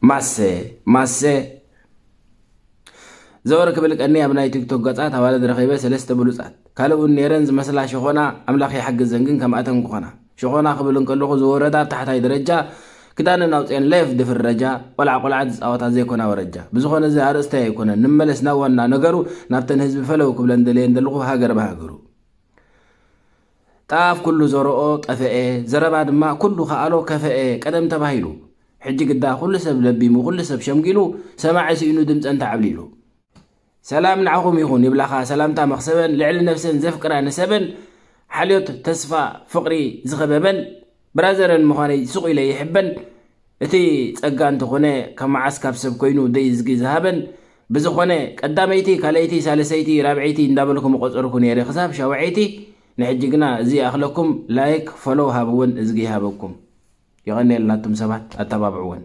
ማሰ ማሰ ዘወር ክብል ቀኒ ኣብ ናይ ቲክቶክ ገጻት ኣዋልድ ረኺበ ሰለስተ ብሉጻት ካልእ እውን ነይረን ዝመስላ ሸኾና ኣምላኽ ይሓግዘን ግን ከምኣተን ክኾና ሸኾና ክብል እንከለኹ ዝወረዳ ኣብ ታሕታይ ደረጃ ክዳነን ኣውፅኤን ላይፍ ድፍረጃ ቆልዓ ቆልዓ ዝፃወታ ዘይኮና ወረጃ ብዝኾነ እዚ ኣርእስታይ ኣይኮነን ንመለስ ናብ ዋና ነገሩ ናብተን ህዝቢ ፈለው ክብለን ደለየን ዘለኹ ሃገር ብሃገሩ ጣፍ ኩሉ ዘርኦ ጠፈኤ፣ ዘረባ ድማ ኩሉ ከኣሎ ከፈኤ ቀደም ተባሂሉ። ሕጂ ግዳ ኩሉ ሰብ ለቢሙ ኩሉ ሰብ ሸምጊሉ ሰማዒ ስኢኑ ድምፀን ተዓብሊሉ። ሰላም ንዓኹም ይኹን ይብላኻ ሰላምታ መኽሰበን ልዕሊ ነፍሰን ዘፍቅራ ንሰበን ሓልዮት ተስፋ ፍቕሪ ዝኸበበን ብራዘረን ምዃነይ ስቕ ኢለ ይሕበን እቲ ጸጋ እንተኾነ ካብ መዓስ ካብ ሰብ ኮይኑ ደይ ዝጊ ዝሃበን ብዝኾነ ቀዳመይቲ ካልኣይቲ ሳልሰይቲ ራብዐይቲ እንዳበልኩ ምቆጸርኩ ነይረ ክሳብ ሻውዐይቲ ንሕጂ ግና እዚ ይኣኽለኩም ላይክ ፎሎው ሃብወን እዝጊ ይሃበኩም የቐንየልና ኣቱም ሰባት ኣተባብዕወን